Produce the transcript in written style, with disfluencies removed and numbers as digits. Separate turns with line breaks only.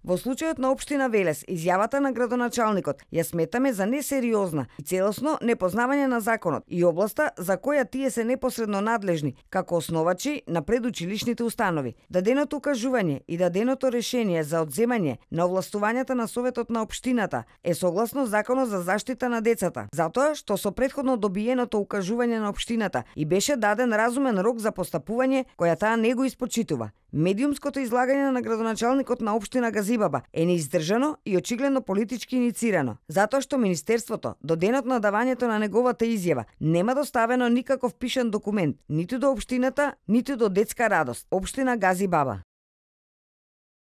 Во случајот на општина Велес, изјавата на градоначалникот ја сметаме за несериозна и целосно непознавање на законот и областа за која тие се непосредно надлежни како основачи на предучилишните установи. Даденото укажување и даденото решение за одземање на овластувањата на Советот на општината е согласно Законот за заштита на децата, затоа што со претходно добиеното укажување на општината и беше даден разумен рок за постапување која таа не го испочитува. Медиумското излагање на градоначалникот на општина Газибаба е неиздржано и очигледно политички иницирано, затоа што Министерството до денот на давањето на неговата изјава нема доставено никаков пишан документ ниту до општината, ниту до Детска радост, општина Газибаба.